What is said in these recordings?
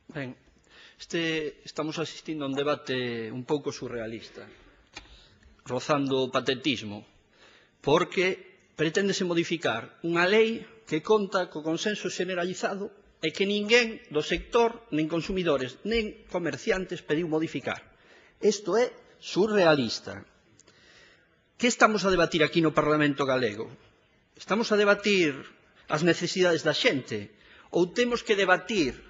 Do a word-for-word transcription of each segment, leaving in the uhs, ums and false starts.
Ben, este, estamos asistindo a un debate un pouco surrealista, rozando o patetismo, porque preténdese modificar unha lei que conta co consenso generalizado e que ninguén do sector, nin consumidores, nin comerciantes pediu modificar. Isto é surrealista. Que estamos a debatir aquí no Parlamento galego? Estamos a debatir as necesidades da xente ou temos que debatir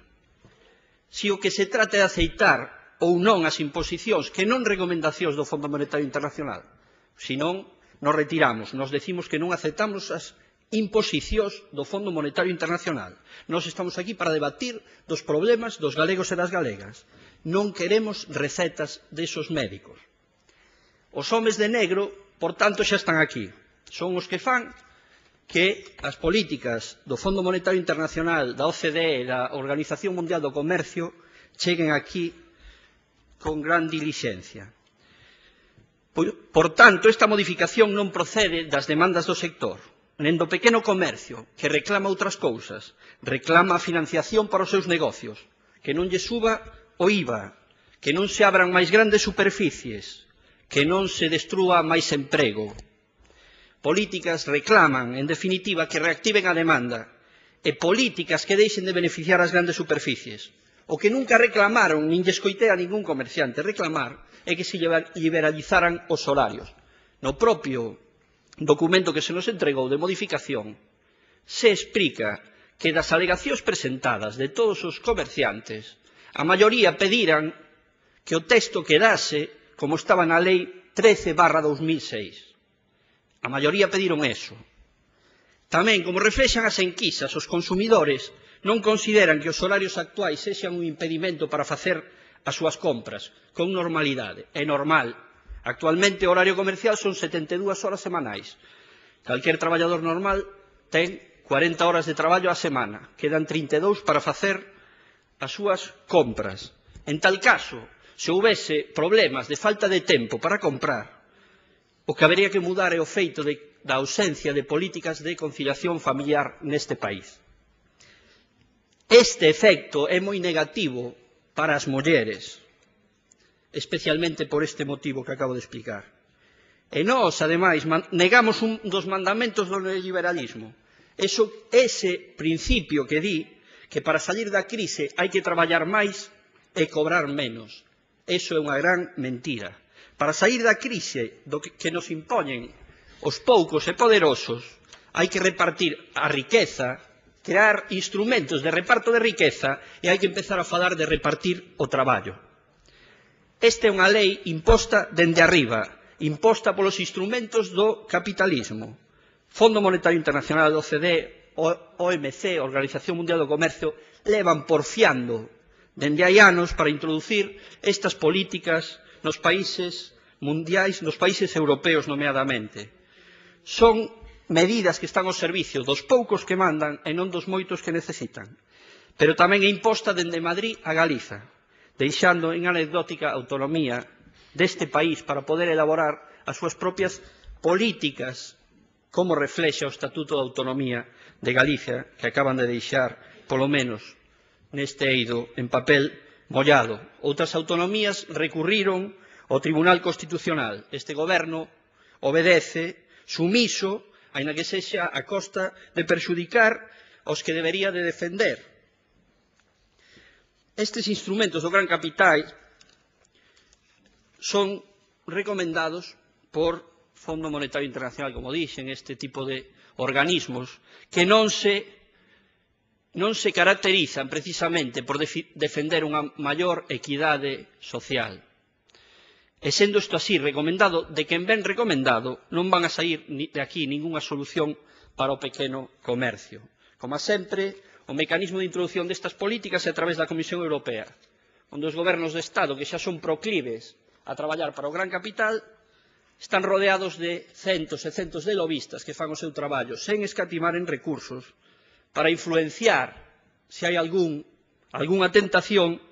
se o que se trata é aceitar ou non as imposicións que non recomendacións do Fondo Monetario Internacional? Se non, nos retiramos, nos decimos que non aceptamos as imposicións do Fondo Monetario Internacional. Nós estamos aquí para debatir dos problemas dos galegos e das galegas. Non queremos recetas desos médicos. Os homes de negro, por tanto, xa están aquí. Son os que fan que as políticas do Fondo Monetario Internacional, da O C D E e da Organización Mundial do Comercio cheguen aquí con gran dilixencia. Por tanto, esta modificación non procede das demandas do sector, nen do pequeno comercio, que reclama outras cousas, reclama a financiación para os seus negocios, que non lle suba o I V A, que non se abran máis grandes superficies, que non se destrúa máis emprego. Políticas reclaman, en definitiva, que reactiven a demanda e políticas que deixen de beneficiar as grandes superficies. O que nunca reclamaron, nin lle escoitei a ningún comerciante reclamar, é que se liberalizaran os horarios. No propio documento que se nos entregou de modificación, se explica que das alegacións presentadas de todos os comerciantes, a maioría pediran que o texto quedase como estaba na Lei trece barra dos mil seis. A maioría pediron eso. Tamén, como reflexan as enquisas, os consumidores non consideran que os horarios actuais sexan un impedimento para facer as súas compras con normalidade. É normal. Actualmente o horario comercial son setenta e dúas horas semanais. Calquer traballador normal ten cuarenta horas de traballo á semana. Quedan trinta e dous para facer as súas compras. En tal caso, se houbese problemas de falta de tempo para comprar, o que habería que mudar é o feito de, da ausencia de políticas de conciliación familiar neste país. Este efecto é moi negativo para as mulleres, especialmente por este motivo que acabo de explicar. E nós, ademais, negamos un dos mandamentos do neoliberalismo. Eso, ese principio que di que para salir da crise hai que traballar máis e cobrar menos. Eso é unha gran mentira. Para sair da crise do que nos impoñen os poucos e poderosos, hai que repartir a riqueza, crear instrumentos de reparto de riqueza e hai que empezar a falar de repartir o traballo. Esta é unha lei imposta dende arriba, imposta polos instrumentos do capitalismo. Fondo Monetario Internacional, O C D E, O M C, Organización Mundial do Comercio, levan porfiando dende hai anos para introducir estas políticas nos países mundiais, nos países europeos nomeadamente. Son medidas que están ao servicio dos poucos que mandan e non dos moitos que necesitan. Pero tamén é imposta dende Madrid a Galiza, deixando en anecdótica autonomía deste país para poder elaborar as súas propias políticas, como reflexa o Estatuto de Autonomía de Galicia, que acaban de deixar, polo menos, neste eido en papel mollado. Outras autonomías recurriron ao Tribunal Constitucional. Este goberno obedece, sumiso, aínda que sexa a costa de perxudicar aos que debería de defender. Estes instrumentos do gran capital son recomendados por Fondo Monetario Internacional, como dixen, este tipo de organismos que non se non se caracterizan precisamente por defender unha maior equidade social. E sendo isto así recomendado, de quen ven recomendado, non van a sair de aquí ningunha solución para o pequeno comercio. Como sempre, o mecanismo de introducción destas políticas é a través da Comisión Europea, onde os gobernos de Estado, que xa son proclives a traballar para o gran capital, están rodeados de centos e centos de lobistas que fan o seu traballo, sen escatimar en recursos, para influenciar se hai algún, algunha tentación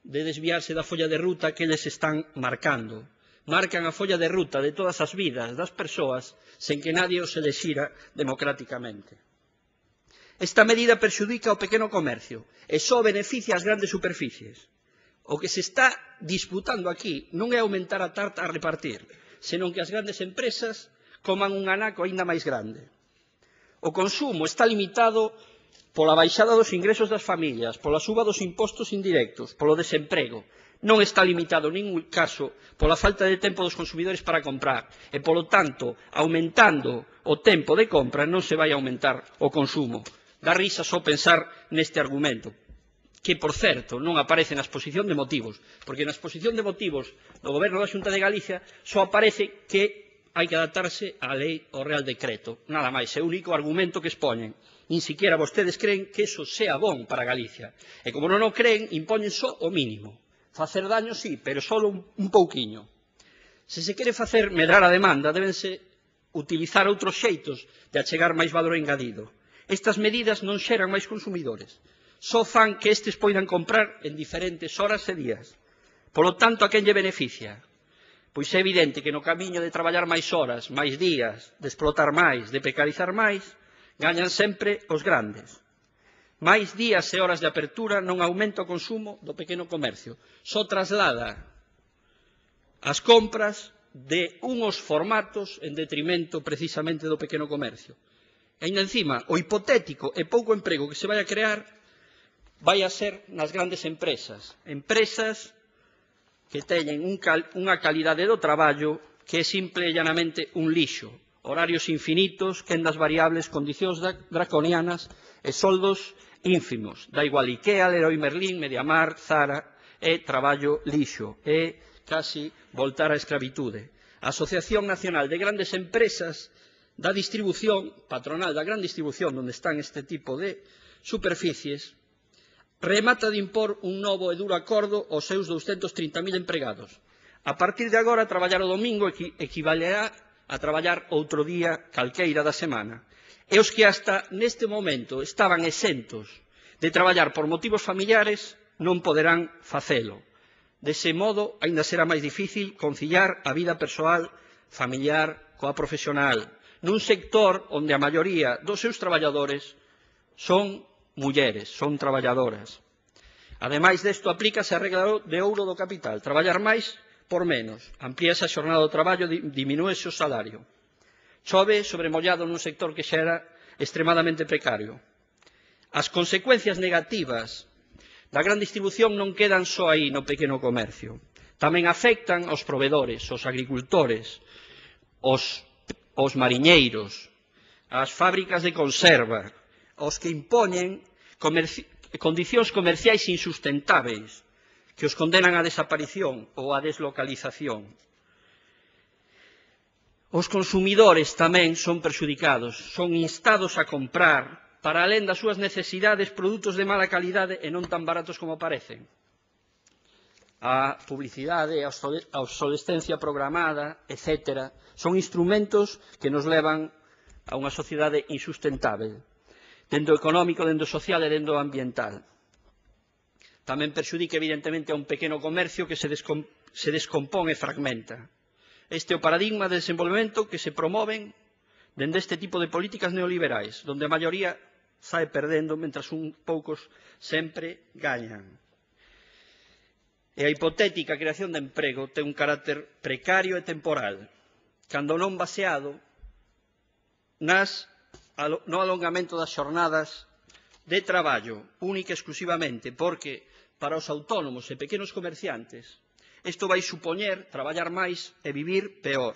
de desviarse da folla de ruta que eles están marcando. Marcan a folla de ruta de todas as vidas das persoas sen que nadie os elexira democráticamente. Esta medida perxudica ao pequeno comercio e só beneficia as grandes superficies. O que se está disputando aquí non é aumentar a tarta a repartir, senón que as grandes empresas coman un anaco aínda máis grande. O consumo está limitado pola baixada dos ingresos das familias, pola suba dos impostos indirectos, polo desemprego. Non está limitado en ningún caso pola falta de tempo dos consumidores para comprar e, polo tanto, aumentando o tempo de compra non se vai aumentar o consumo. Dá risa só pensar neste argumento, que, por certo, non aparece na exposición de motivos, porque na exposición de motivos do Goberno da Xunta de Galicia só aparece que hai que adaptarse á lei ao Real Decreto. Nada máis, é o único argumento que expoñen. Nin siquiera vostedes creen que eso sea bon para Galicia. E como non o creen, impoñen só o mínimo. Facer daño, sí, pero só un, un pouquiño. Se se quere facer medrar a demanda, débense utilizar outros xeitos de achegar máis valor engadido. Estas medidas non xeran máis consumidores. Só fan que estes poidan comprar en diferentes horas e días. Polo tanto, a quen lle beneficia? Pois é evidente que no camiño de traballar máis horas, máis días, de explotar máis, de precarizar máis, gañan sempre os grandes. Máis días e horas de apertura non aumenta o consumo do pequeno comercio. Só traslada as compras de unhos formatos en detrimento precisamente do pequeno comercio. E ainda encima, o hipotético e pouco emprego que se vai a crear vai a ser nas grandes empresas. Empresas que teñen un cal, unha calidade do traballo que é simple e llanamente un lixo. Horarios infinitos, quendas variables, condicións draconianas e soldos ínfimos. Da igual Ikea, Leroy Merlin, Mediamar, Zara, é traballo lixo, é casi voltar á escravitude. A Asociación Nacional de Grandes Empresas da distribución, patronal da gran distribución, onde están este tipo de superficies, remata de impor un novo e duro acordo aos seus douscentos trinta mil empregados. A partir de agora, traballar o domingo equivalerá a traballar outro día calqueira da semana. E os que hasta neste momento estaban exentos de traballar por motivos familiares non poderán facelo. Dese modo, aínda será máis difícil conciliar a vida persoal, familiar, coa profesional, nun sector onde a maioría dos seus traballadores son mulleres, son traballadoras. Ademais desto, aplícase a regra de ouro do capital, traballar máis por menos, amplíase a xornada do traballo, diminúese o salario. Chove sobre mollado nun sector que xa era extremadamente precario. As consecuencias negativas da gran distribución non quedan só aí no pequeno comercio. Tamén afectan aos provedores, aos agricultores, aos aos mariñeiros, ás fábricas de conserva, aos que impoñen comerci condicións comerciais insustentáveis que os condenan á desaparición ou á deslocalización. Os consumidores tamén son perxudicados, son instados a comprar, para alén das súas necesidades, produtos de mala calidade e non tan baratos como parecen. A publicidade, a obsolescencia programada, etcétera, son instrumentos que nos levan a unha sociedade insustentável, dende o económico, dende o social e dende o ambiental. Tamén perxudica, evidentemente, a un pequeno comercio que se, descom se descompón e fragmenta. Este é o paradigma de desenvolvemento que se promoven dende este tipo de políticas neoliberais, donde a maioría sae perdendo, mentras un poucos sempre gañan. E a hipotética creación de emprego ten un carácter precario e temporal, cando non baseado nas, no alongamento das xornadas de traballo, única e exclusivamente, porque para os autónomos e pequenos comerciantes isto vai supoñer traballar máis e vivir peor.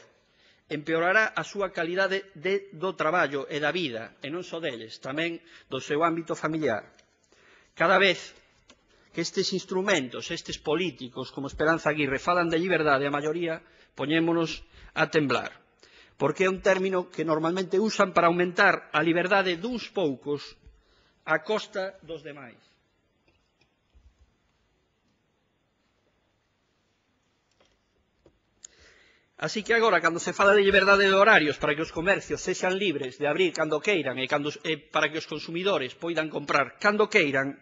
Empeorará a súa calidade de, do traballo e da vida, e non só deles, tamén do seu ámbito familiar. Cada vez que estes instrumentos, estes políticos, como Esperanza Aguirre, falan de liberdade, a maioría poñémonos a temblar, porque é un término que normalmente usan para aumentar a liberdade duns poucos a costa dos demais. Así que agora, cando se fala de liberdade de horarios para que os comercios sexan libres de abrir cando queiran e, cando, e para que os consumidores poidan comprar cando queiran,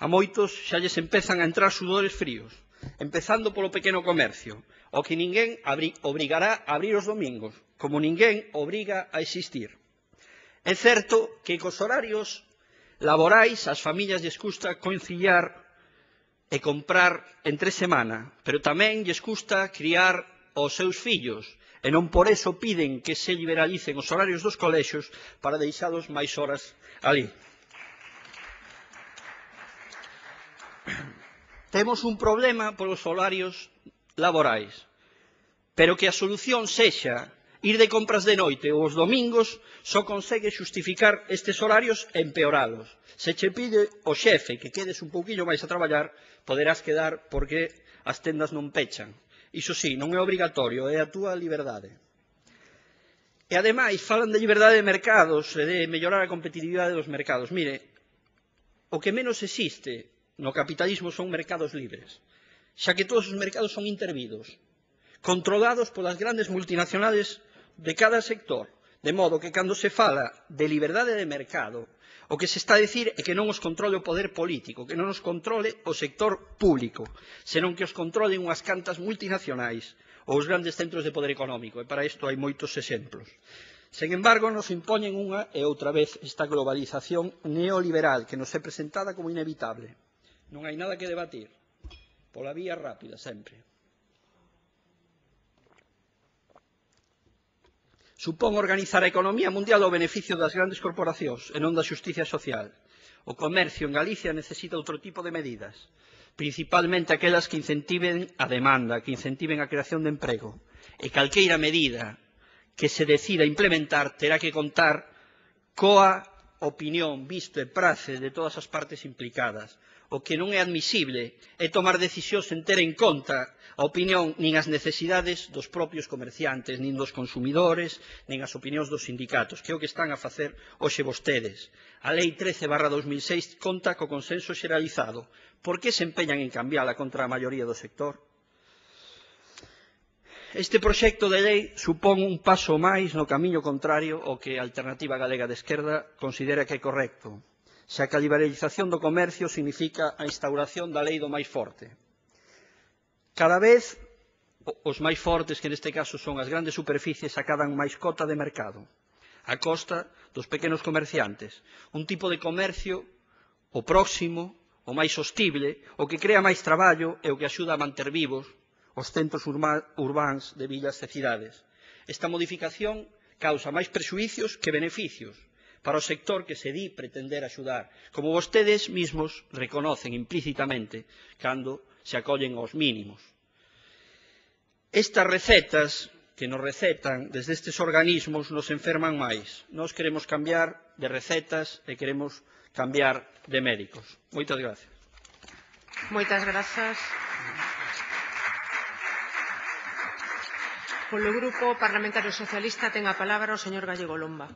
a moitos xa lles empezan a entrar sudores fríos, empezando polo pequeno comercio, o que ninguén obrigará a abrir os domingos, como ninguén obriga a existir. É certo que cos horarios laborais as familias lles custa conciliar e comprar entre semana, pero tamén lles custa criar os seus fillos, e non por eso piden que se liberalicen os horarios dos colexios para deixalos máis horas ali. Temos un problema polos horarios laborais, pero que a solución sexa ir de compras de noite ou os domingos só consegue xustificar estes horarios e empeoralos. Se che pide o xefe que quedes un pouquinho máis a traballar, poderás quedar porque as tendas non pechan. Iso sí, non é obrigatorio, é a túa liberdade. E ademais falan de liberdade de mercados e de mellorar a competitividade dos mercados. Mire, o que menos existe no capitalismo son mercados libres, xa que todos os mercados son intervidos, controlados polas grandes multinacionales de cada sector, de modo que cando se fala de liberdade de mercado, o que se está a dicir é que non os controle o poder político, que non os controle o sector público, senón que os controlen unhas cantas multinacionais ou os grandes centros de poder económico, e para isto hai moitos exemplos. Sen embargo, nos impoñen unha e outra vez esta globalización neoliberal que nos é presentada como inevitable. Non hai nada que debatir, pola vía rápida sempre. Supón organizar a economía mundial ao beneficio das grandes corporacións e non da xusticia social. O comercio en Galicia necesita outro tipo de medidas, principalmente aquelas que incentiven a demanda, que incentiven a creación de emprego. E calqueira medida que se decida implementar terá que contar coa opinión, visto e prace de todas as partes implicadas. O que non é admisible é tomar decisións sen ter en conta a opinión nin as necesidades dos propios comerciantes, nin dos consumidores, nin as opinións dos sindicatos, que é o que están a facer hoxe vostedes. A Lei trece barra dos mil seis conta co consenso xeralizado. Por que se empeñan en cambiala contra a maioría do sector? Este proxecto de lei supón un paso máis no camiño contrario ao que a Alternativa Galega de Esquerda considera que é correcto, xa que a liberalización do comercio significa a instauración da lei do máis forte. Cada vez os máis fortes, que neste caso son as grandes superficies, acadan máis cota de mercado, a costa dos pequenos comerciantes, un tipo de comercio o próximo, o máis sostible, o que crea máis traballo e o que axuda a manter vivos os centros urbáns de vilas e cidades. Esta modificación causa máis prexuicios que beneficios para o sector que se di pretender axudar, como vostedes mismos reconocen implícitamente cando se acollen aos mínimos. Estas recetas que nos recetan desde estes organismos nos enferman máis. Nós queremos cambiar de recetas e queremos cambiar de médicos. Moitas gracias. Moitas grazas. Polo Grupo Parlamentario Socialista ten a palabra o señor Gallego Lomba.